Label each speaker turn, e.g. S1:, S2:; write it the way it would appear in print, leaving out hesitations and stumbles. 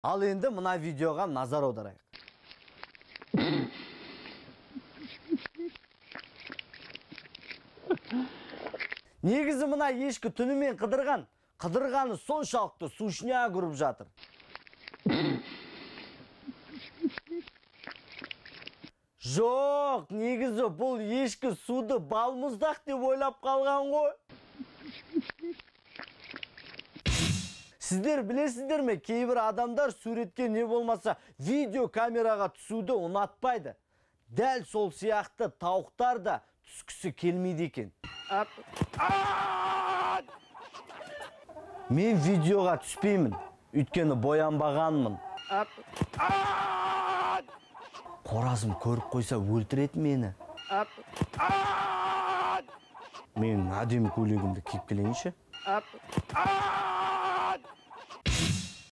S1: Ал энди мына видеого назар аударайык. Негизи мына эшки түнү мен кыдырганы соншалыктуу сушня көрүп жатыр. Жок, негизи бул эшки сууду балмуздак деп ойлоп калган го. Сиздер билесиздерби, кээ бир адамдар сүрөткө не болмаса видео камерага түсүүдө унатпайды. Дәл сол сыяктуу тауктар да түскүсү келмейди экен. Мен видеога түспеймин, үткөнү боянбаганмын. Коразым көрүп койсо өлтүрөт мени. Мен адеми көйлөгүмдү кийип келейинчи.